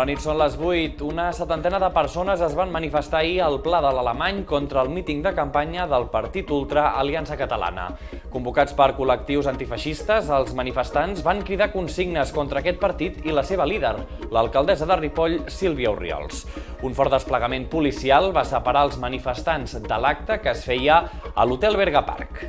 Bona nit, són les 8. Una setantena de persones es van manifestar ahir al Pla de l'Alemany contra el míting de campanya del partit ultra Aliança Catalana. Convocats per col·lectius antifeixistes, els manifestants van cridar consignes contra aquest partit i la seva líder, l'alcaldessa de Ripoll, Sílvia Orriols. Un fort desplegament policial va separar els manifestants de l'acte que es feia a l'Hotel Berga Park.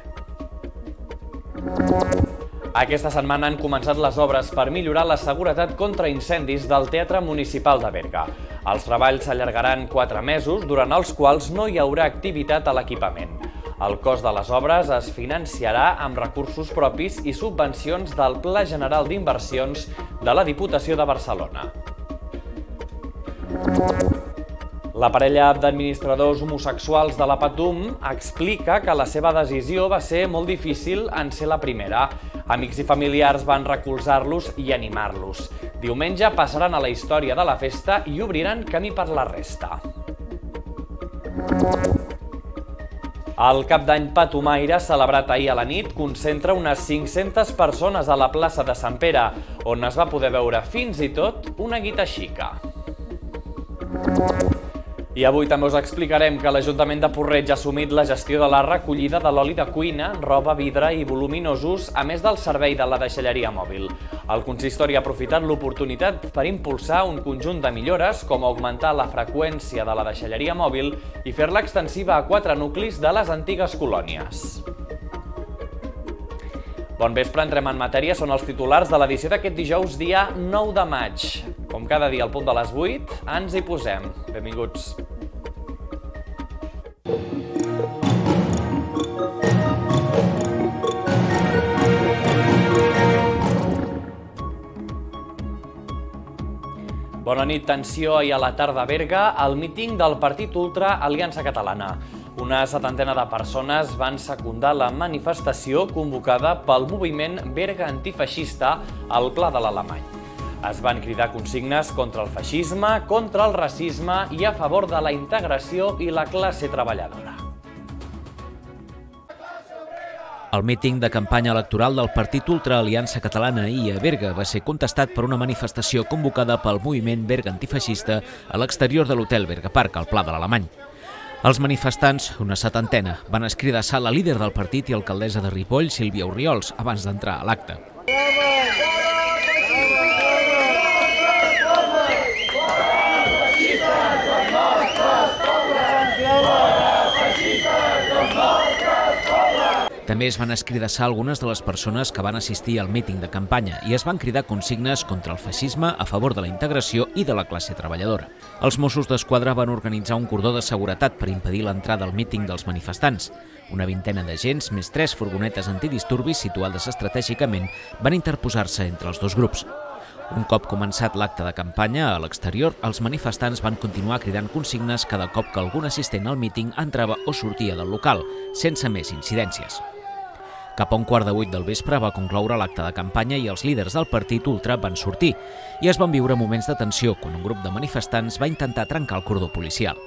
Aquesta setmana han començat les obres per millorar la seguretat contra incendis del Teatre Municipal de Berga. Els treballs s'allargaran 4 mesos, durant els quals no hi haurà activitat a l'equipament. El cost de les obres es financiarà amb recursos propis i subvencions del Pla General d'Inversions de la Diputació de Barcelona. La parella d'administradors homosexuals de la Patum explica que la seva decisió va ser molt difícil en ser la primera. Amics i familiars van recolzar-los i animar-los. Diumenge passaran a la història de la festa i obriran camí per la resta. El Cap d'Any Patumaire, celebrat ahir a la nit, concentra unes 500 persones a la plaça de Sant Pere, on es va poder veure fins i tot una guita xica. I avui també us explicarem que l'Ajuntament de Porreig ha assumit la gestió de la recollida de l'oli de cuina, roba, vidre i voluminosos, a més del servei de la deixalleria mòbil. El consistori ha aprofitat l'oportunitat per impulsar un conjunt de millores, com augmentar la freqüència de la deixalleria mòbil i fer-la extensiva a 4 nuclis de les antigues colònies. Bon vespre, entrem en matèria, són els titulars de l'edició d'aquest dijous, dia 9 de maig. Com cada dia al punt de les 8, ens hi posem. Benvinguts. Bona nit, tensió ahir a la tarda a Berga, al míting del partit ultra Aliança Catalana. Una setantena de persones van secundar la manifestació convocada pel moviment Berga Antifeixista al Pla de l'Alemany. Es van cridar consignes contra el feixisme, contra el racisme i a favor de la integració i la classe treballadora. El míting de campanya electoral del partit ultra Aliança Catalana ahir a Berga va ser contestat per una manifestació convocada pel moviment Berga Antifeixista a l'exterior de l'Hotel Berga Park, al Pla de l'Alemany. Els manifestants, una setantena, van escridassar la líder del partit i alcaldessa de Ripoll, Sílvia Orriols, abans d'entrar a l'acte. També es van escridassar algunes de les persones que van assistir al míting de campanya i es van cridar consignes contra el feixisme, a favor de la integració i de la classe treballadora. Els Mossos d'Esquadra van organitzar un cordó de seguretat per impedir l'entrada al míting dels manifestants. Una vintena d'agents, més 3 furgonetes antidisturbis situades estratègicament, van interposar-se entre els dos grups. Un cop començat l'acte de campanya, a l'exterior, els manifestants van continuar cridant consignes cada cop que algun assistent al míting entrava o sortia del local, sense més incidències. Cap a 7:15 del vespre va concloure l'acte de campanya i els líders del partit ultra van sortir i es van viure moments de tensió quan un grup de manifestants va intentar trencar el cordó policial.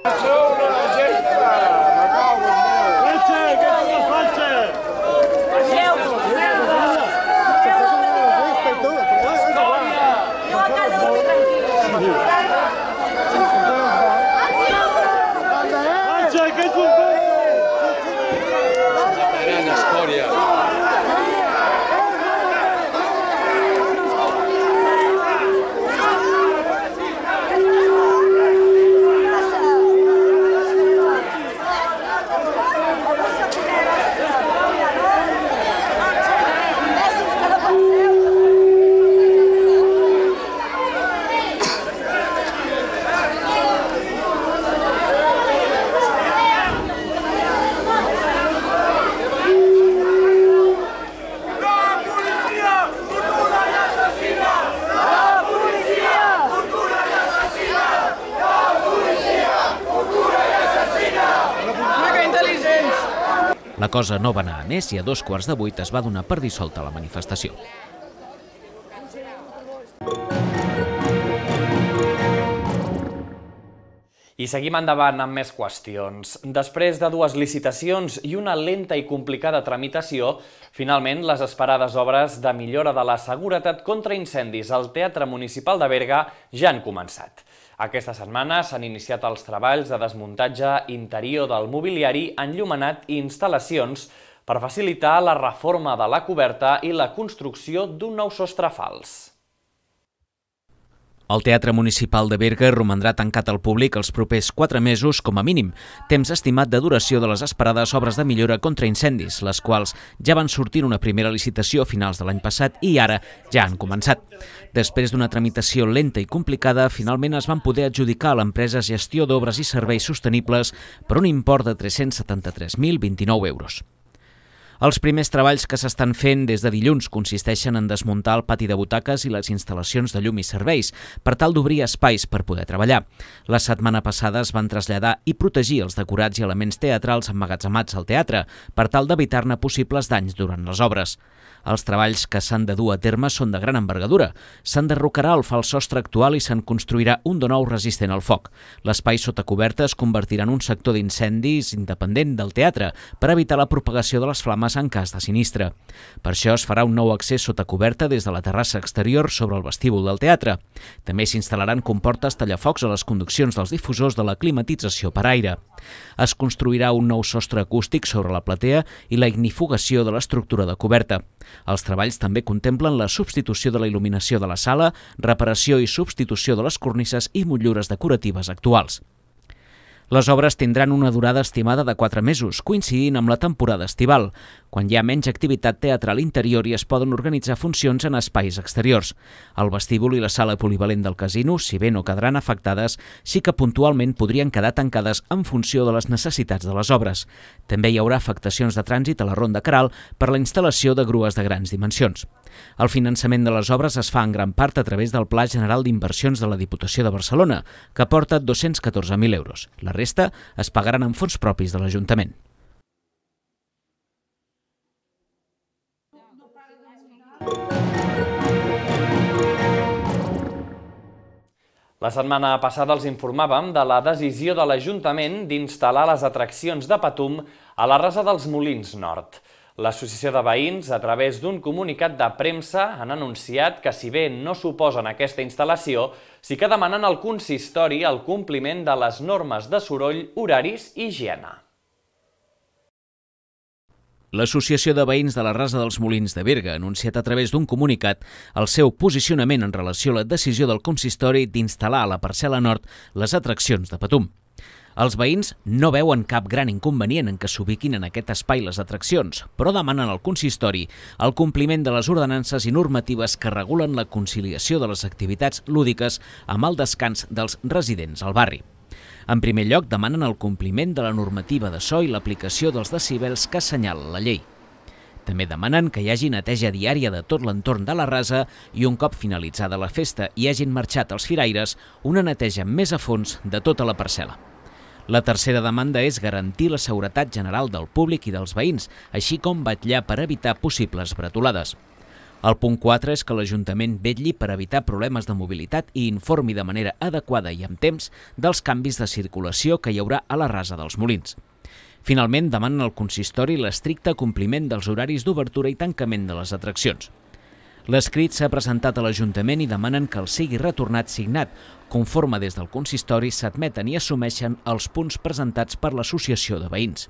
La cosa no va anar a més i a 7:15 es va donar per dissolta la manifestació. I seguim endavant amb més qüestions. Després de 2 licitacions i una lenta i complicada tramitació, finalment les esperades obres de millora de la seguretat contra incendis al Teatre Municipal de Berga ja han començat. Aquesta setmana s'han iniciat els treballs de desmuntatge interior del mobiliari, enllumenat i instal·lacions per facilitar la reforma de la coberta i la construcció d'un nou sostre fals. El Teatre Municipal de Berga romandrà tancat al públic els propers 4 mesos com a mínim, temps estimat de duració de les esperades obres de millora contra incendis, les quals ja van sortir en una primera licitació a finals de l'any passat i ara ja han començat. Després d'una tramitació lenta i complicada, finalment es van poder adjudicar a l'empresa Gestió d'Obres i Serveis Sostenibles per un import de 373.029 euros. Els primers treballs que s'estan fent des de dilluns consisteixen en desmuntar el pati de butaques i les instal·lacions de llum i serveis per tal d'obrir espais per poder treballar. La setmana passada es van traslladar i protegir els decorats i elements teatrals emmagatzemats al teatre per tal d'evitar-ne possibles danys durant les obres. Els treballs que s'han de dur a terme són de gran envergadura. S'enderrocarà el fals sostre actual i se'n construirà un de nou resistent al foc. L'espai sota coberta es convertirà en un sector d'incendis independent del teatre per evitar la propagació de les flames en cas de sinistre. Per això es farà un nou accés sota coberta des de la terrassa exterior sobre el vestíbul del teatre. També s'instal·laran comportes tallafocs a les conduccions dels difusors de la climatització per aire. Es construirà un nou sostre acústic sobre la platea i la ignifugació de l'estructura de coberta. Els treballs també contemplen la substitució de la il·luminació de la sala, reparació i substitució de les cornises i motllures decoratives actuals. Les obres tindran una durada estimada de 4 mesos, coincidint amb la temporada estival, quan hi ha menys activitat teatral interior i es poden organitzar funcions en espais exteriors. El vestíbul i la sala polivalent del casino, si bé no quedaran afectades, sí que puntualment podrien quedar tancades en funció de les necessitats de les obres. També hi haurà afectacions de trànsit a la Ronda Queralt per la instal·lació de grues de grans dimensions. El finançament de les obres es fa en gran part a través del Pla General d'Inversions de la Diputació de Barcelona, que aporta 214.000 euros. La resta es pagaran amb fons propis de l'Ajuntament. La setmana passada els informàvem de la decisió de l'Ajuntament d'instal·lar les atraccions de Patum a la Rasa dels Molins Nord. L'Associació de Veïns, a través d'un comunicat de premsa, han anunciat que, si bé no s'oposen a aquesta instal·lació, sí que demanen al consistori el compliment de les normes de soroll, horaris i higiene. L'Associació de Veïns de la Rasa dels Molins de Berga ha anunciat a través d'un comunicat el seu posicionament en relació a la decisió del consistori d'instal·lar a la parcel·la nord les atraccions de Patum. Els veïns no veuen cap gran inconvenient en que s'ubiquin en aquest espai les atraccions, però demanen al consistori el compliment de les ordenances i normatives que regulen la conciliació de les activitats lúdiques amb el descans dels residents al barri. En primer lloc, demanen el compliment de la normativa de so i l'aplicació dels decibels que assenyala la llei. També demanen que hi hagi neteja diària de tot l'entorn de la rasa i un cop finalitzada la festa i hagin marxat els firaires, una neteja més a fons de tota la parcel·la. La tercera demanda és garantir la seguretat general del públic i dels veïns, així com vetllar per evitar possibles bretolades. El punt 4 és que l'Ajuntament vetlli per evitar problemes de mobilitat i informi de manera adequada i amb temps dels canvis de circulació que hi haurà a la Rasa dels Molins. Finalment, demanen al consistori l'estricte compliment dels horaris d'obertura i tancament de les atraccions. L'escrit s'ha presentat a l'Ajuntament i demanen que el sigui retornat signat, conforme des del consistori s'admeten i assumeixen els punts presentats per l'Associació de Veïns.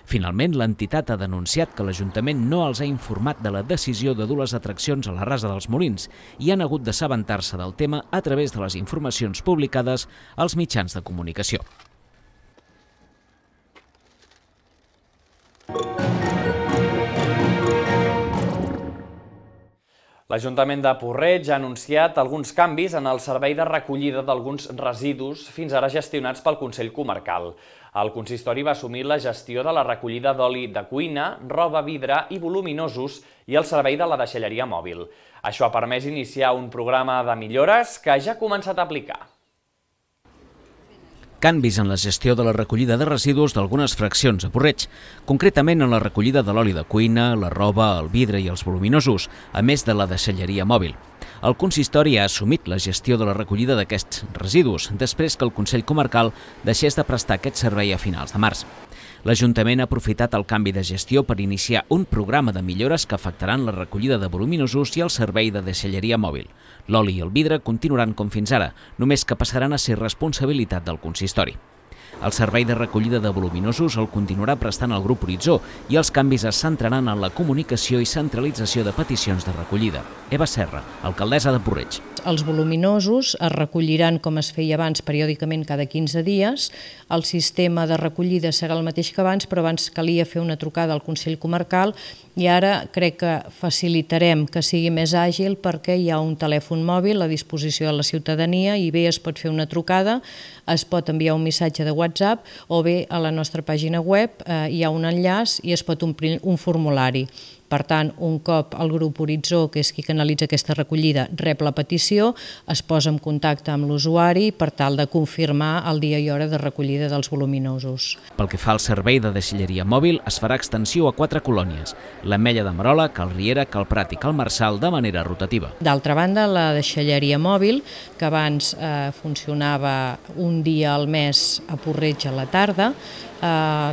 Finalment, l'entitat ha denunciat que l'Ajuntament no els ha informat de la decisió de dur les atraccions a la Rasa dels Molins i han hagut d'assabentar-se del tema a través de les informacions publicades als mitjans de comunicació. L'Ajuntament de Porreig ha anunciat alguns canvis en el servei de recollida d'alguns residus fins ara gestionats pel Consell Comarcal. El consistori va assumir la gestió de la recollida d'oli de cuina, roba, vidre i voluminosos i el servei de la deixalleria mòbil. Això ha permès iniciar un programa de millores que ja ha començat a aplicar. Canvis en la gestió de la recollida de residus d'algunes fraccions a Porreig, concretament en la recollida de l'oli de cuina, la roba, el vidre i els voluminosos, a més de la deixalleria mòbil. El consistori ha assumit la gestió de la recollida d'aquests residus, després que el Consell Comarcal deixés de prestar aquest servei a finals de març. L'Ajuntament ha aprofitat el canvi de gestió per iniciar un programa de millores que afectaran la recollida de voluminosos i el servei de deixalleria mòbil. L'oli i el vidre continuaran com fins ara, només que passaran a ser responsabilitat del consistori. El servei de recollida de voluminosos el continuarà prestant el grup Horitzó i els canvis es centraran en la comunicació i centralització de peticions de recollida. Eva Serra, alcaldessa de Puig-reig. Els voluminosos es recolliran, com es feia abans, periòdicament cada 15 dies. El sistema de recollida serà el mateix que abans, però abans calia fer una trucada al Consell Comarcal i ara crec que facilitarem que sigui més àgil perquè hi ha un telèfon mòbil a disposició de la ciutadania i bé es pot fer una trucada, es pot enviar un missatge de WhatsApp o bé a la nostra pàgina web hi ha un enllaç i es pot omplir un formulari. Per tant, un cop el grup Horitzó, que és qui canalitza aquesta recollida, rep la petició, es posa en contacte amb l'usuari per tal de confirmar el dia i hora de recollida dels voluminosos. Pel que fa al servei de deixalleria mòbil, es farà extensió a 4 colònies: l'Ametlla de Merola, Cal Riera, Cal Prat i Cal Marçal, de manera rotativa. D'altra banda, la deixalleria mòbil, que abans funcionava un dia al mes a Puig-reig a la tarda,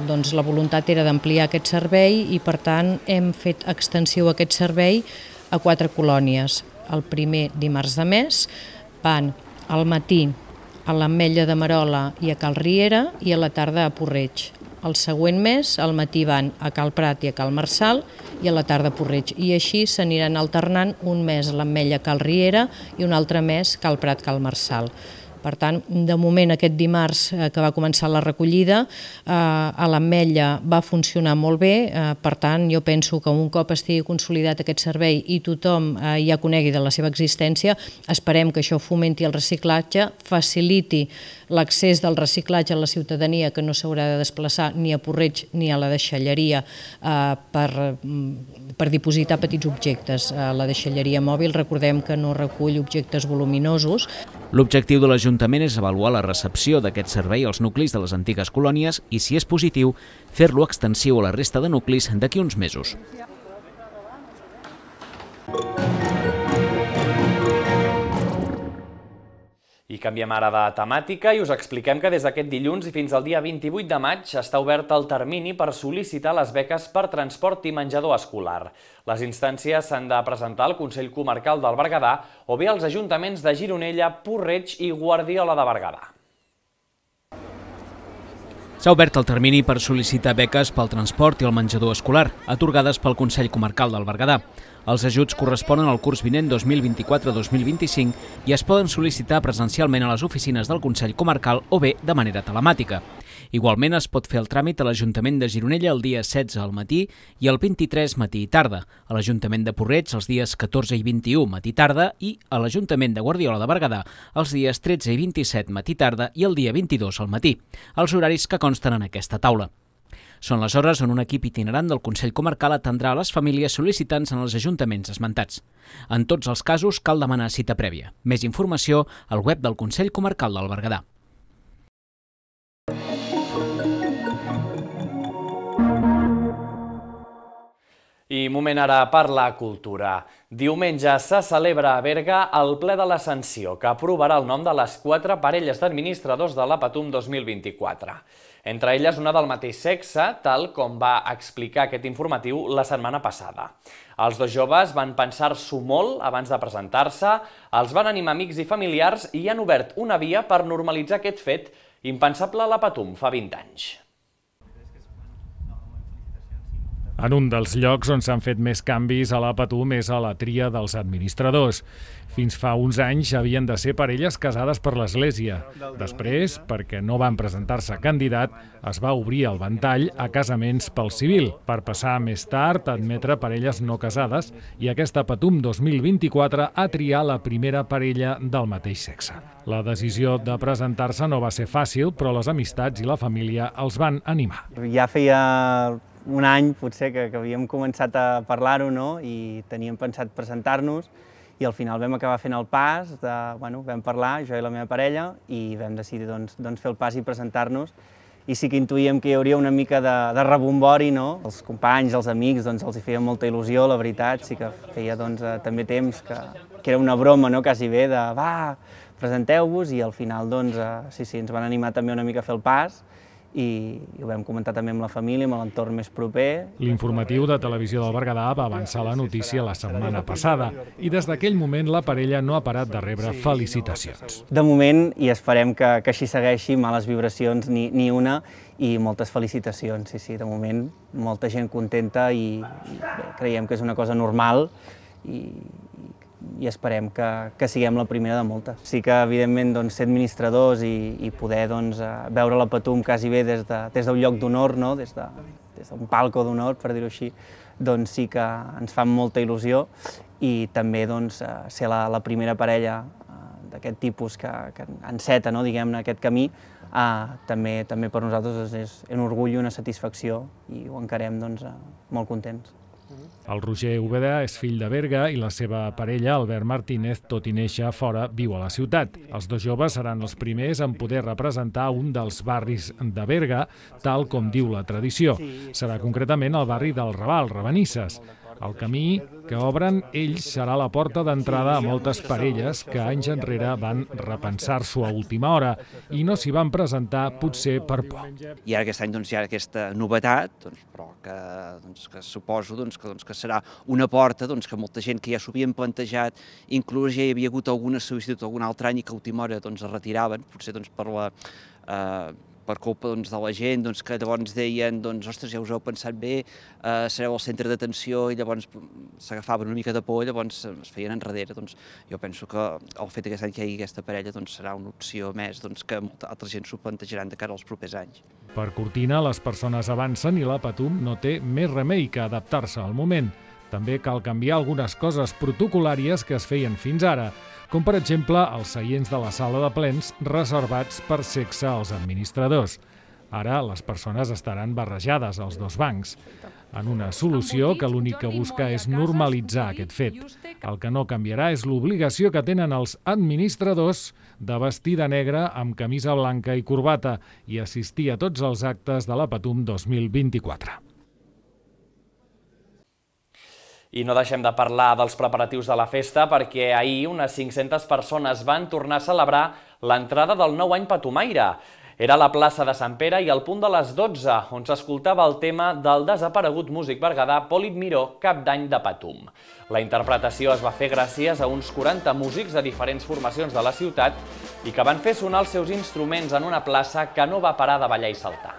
doncs la voluntat era d'ampliar aquest servei i per tant hem fet extensió a aquest servei a 4 colònies. El primer dimarts de mes van al matí a l'Ametlla de Merola i a Cal Riera i a la tarda a Puig-reig. El següent mes al matí van a Cal Prat i a Cal Marçal i a la tarda a Puig-reig. I així s'aniran alternant un mes a l'Ametlla Cal Riera i un altre mes Cal Prat Cal Marçal. Per tant, de moment aquest dimarts que va començar la recollida, a l'Ametlla va funcionar molt bé, per tant jo penso que un cop estigui consolidat aquest servei i tothom ja conegui de la seva existència, esperem que això fomenti el reciclatge, faciliti l'accés del reciclatge a la ciutadania que no s'haurà de desplaçar ni a Puig-reig ni a la deixalleria per dipositar petits objectes. La deixalleria mòbil recordem que no recull objectes voluminosos. L'objectiu de l'Ajuntament és avaluar la recepció d'aquest servei als nuclis de les antigues colònies i, si és positiu, fer-lo extensiu a la resta de nuclis d'aquí uns mesos. I canviem ara de temàtica i us expliquem que des d'aquest dilluns i fins al dia 28 de maig està obert el termini per sol·licitar les beques per transport i menjador escolar. Les instàncies s'han de presentar al Consell Comarcal del Berguedà o bé als ajuntaments de Gironella, Puig-reig i Guardiola de Berguedà. S'ha obert el termini per sol·licitar beques pel transport i el menjador escolar, atorgades pel Consell Comarcal del Berguedà. Els ajuts corresponen al curs vinent 2024-2025 i es poden sol·licitar presencialment a les oficines del Consell Comarcal o bé de manera telemàtica. Igualment es pot fer el tràmit a l'Ajuntament de Gironella el dia 16 al matí i el 23 matí i tarda, a l'Ajuntament de Puig-reig els dies 14 i 21 matí i tarda i a l'Ajuntament de Guardiola de Berguedà els dies 13 i 27 matí i tarda i el dia 22 al matí, els horaris que consten en aquesta taula. Són les hores on un equip itinerant del Consell Comarcal atendrà a les famílies sol·licitants en els ajuntaments esmentats. En tots els casos cal demanar cita prèvia. Més informació al web del Consell Comarcal del Berguedà. I moment ara per la cultura. Diumenge se celebra a Berga el ple de l'Ascensió, que aprovarà el nom de les 4 parelles d'administradors de la Patum 2024. Entre elles una del mateix sexe, tal com va explicar aquest informatiu la setmana passada. Els dos joves van pensar-s'ho molt abans de presentar-se, els van animar amics i familiars i han obert una via per normalitzar aquest fet impensable a la Patum fa 20 anys. En un dels llocs on s'han fet més canvis a la Patum és a la tria dels administradors. Fins fa uns anys havien de ser parelles casades per l'Església. Després, perquè no van presentar-se candidat, es va obrir el ventall a casaments pel civil, per passar més tard a admetre parelles no casades, i aquesta Patum 2024 ha triat la primera parella del mateix sexe. La decisió de presentar-se no va ser fàcil, però les amistats i la família els van animar. Ja feia un any, potser, que havíem començat a parlar-ho, no? I teníem pensat presentar-nos i al final vam acabar fent el pas, vam parlar, jo i la meva parella, i vam decidir fer el pas i presentar-nos. i sí que intuïem que hi hauria una mica de rebombori, no? Els companys, els amics, doncs els hi feia molta il·lusió, la veritat, sí que feia doncs, també temps que era una broma, no? Quasi bé, de va, presenteu-vos, i al final doncs, sí, ens van animar també una mica a fer el pas, i ho vam comentar també amb la família, amb l'entorn més proper. L'informatiu de Televisió del Berguedà va avançar la notícia la setmana passada i des d'aquell moment la parella no ha parat de rebre felicitacions. De moment, i esperem que així segueixi, males vibracions ni una, i moltes felicitacions, sí, de moment molta gent contenta i bé, creiem que és una cosa normal i esperem que siguem la primera de moltes. Sí que, evidentment, ser administradors i poder veure la Patum quasi bé des d'un lloc d'honor, des d'un palco d'honor, per dir-ho així, doncs sí que ens fa molta il·lusió, i també ser la primera parella d'aquest tipus que enceta, diguem-ne, aquest camí, també per nosaltres és un orgull i una satisfacció, i ho encarem molt contents. El Roger Úbeda és fill de Berga i la seva parella, Albert Martínez, tot i néixer fora, viu a la ciutat. Els dos joves seran els primers en poder representar un dels barris de Berga, tal com diu la tradició. Serà concretament el barri del Raval, Ravenisses. El camí que obren ells serà la porta d'entrada a moltes parelles que anys enrere van repensar-s'ho a última hora i no s'hi van presentar potser per por. I ara aquest any hi ha aquesta novetat, però que suposo que serà una porta que molta gent que ja s'ho havien plantejat, inclús ja hi havia hagut alguna sol·licitud algun altre any i que a última hora es retiraven, potser per culpa de la gent, que llavors deien, ostres, ja us heu pensat bé, sereu al centre d'atenció, i llavors s'agafaven una mica de por i llavors es feien enrere. Jo penso que el fet que aquest any que hi hagi aquesta parella serà una opció més que molta altra gent s'ho plantejaran de cara als propers anys. Per Cortina, les persones avancen i la Patum no té més remei que adaptar-se al moment. També cal canviar algunes coses protocolàries que es feien fins ara, com per exemple els seients de la sala de plens reservats per sexe als administradors. Ara les persones estaran barrejades als dos bancs, en una solució que l'únic que busca és normalitzar aquest fet. El que no canviarà és l'obligació que tenen els administradors de vestir de negre amb camisa blanca i corbata i assistir a tots els actes de la Patum 2024. I no deixem de parlar dels preparatius de la festa perquè ahir unes 500 persones van tornar a celebrar l'entrada del nou any patumaire. Era a la plaça de Sant Pere i al punt de les 12, on s'escoltava el tema del desaparegut músic berguedà Polip Miró, cap d'any de Patum. La interpretació es va fer gràcies a uns 40 músics de diferents formacions de la ciutat i que van fer sonar els seus instruments en una plaça que no va parar de ballar i saltar.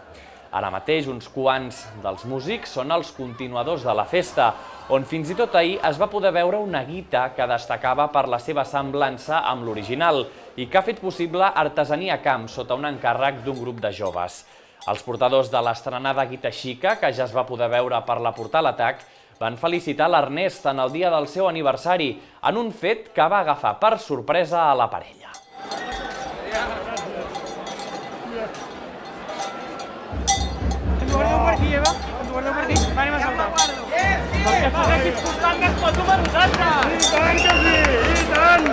Ara mateix, uns quants dels músics són els continuadors de la festa, on fins i tot ahir es va poder veure una guita que destacava per la seva semblança amb l'original i que ha fet possible Artesania Camp sota un encàrrec d'un grup de joves. Els portadors de l'estrenada guita xica, que ja es va poder veure per la Portal Atac, van felicitar l'Ernest en el dia del seu aniversari, en un fet que va agafar per sorpresa a la parella. Ens guardeu per aquí, Eva? Ens guardeu per aquí? Va, anem a saltar. Perquè segueixis portant més Patum a nosaltres! I tant que sí! I tant!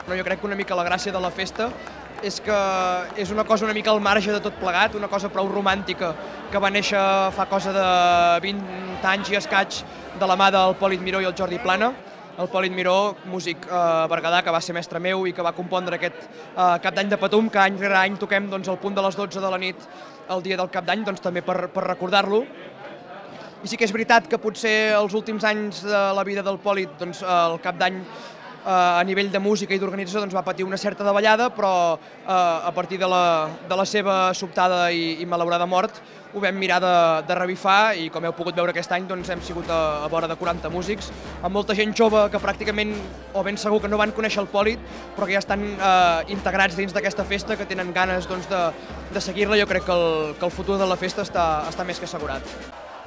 Jo crec que una mica la gràcia de la festa és que és una cosa una mica al marge de tot plegat, una cosa prou romàntica que va néixer fa cosa de 20 anys i escaig de la mà del Polip Miró i el Jordi Plana. El Polip Miró, músic berguedà, que va ser mestre meu i que va compondre aquest cap d'any de Patum, que any rere any toquem al punt de les 12 de la nit el dia del cap d'any, també per recordar-lo. I sí que és veritat que potser els últims anys de la vida del Polip, el cap d'any a nivell de música i d'organització va patir una certa davallada, però a partir de la seva sobtada i malaurada mort ho vam mirar de revifar i com heu pogut veure aquest any hem sigut a vora de 40 músics, amb molta gent jove que pràcticament, o ben segur que no van conèixer el Polip, però que ja estan integrats dins d'aquesta festa, que tenen ganes de seguir-la. Jo crec que el futur de la festa està més que assegurat.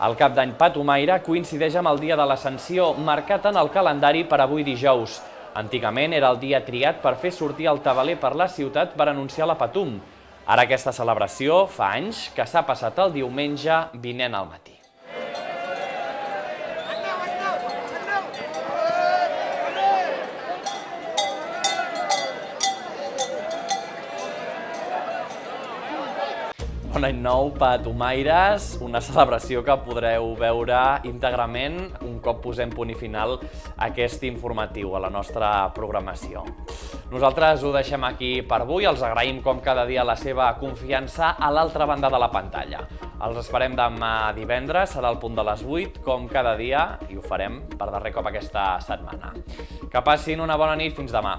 El cap d'any patumaire coincideix amb el dia de l'Ascensió, marcat en el calendari per avui dijous. Antigament era el dia triat per fer sortir el tabaler per la ciutat per anunciar la Patum. Ara aquesta celebració fa anys que s'ha passat el diumenge vinent al matí. Bon any nou, patumaires, una celebració que podreu veure íntegrament un cop posem punt i final a aquest informatiu, a la nostra programació. Nosaltres ho deixem aquí per avui, els agraïm com cada dia la seva confiança a l'altra banda de la pantalla. Els esperem demà divendres, serà el punt de les 8, com cada dia, i ho farem per darrer cop aquesta setmana. Que passin una bona nit, fins demà.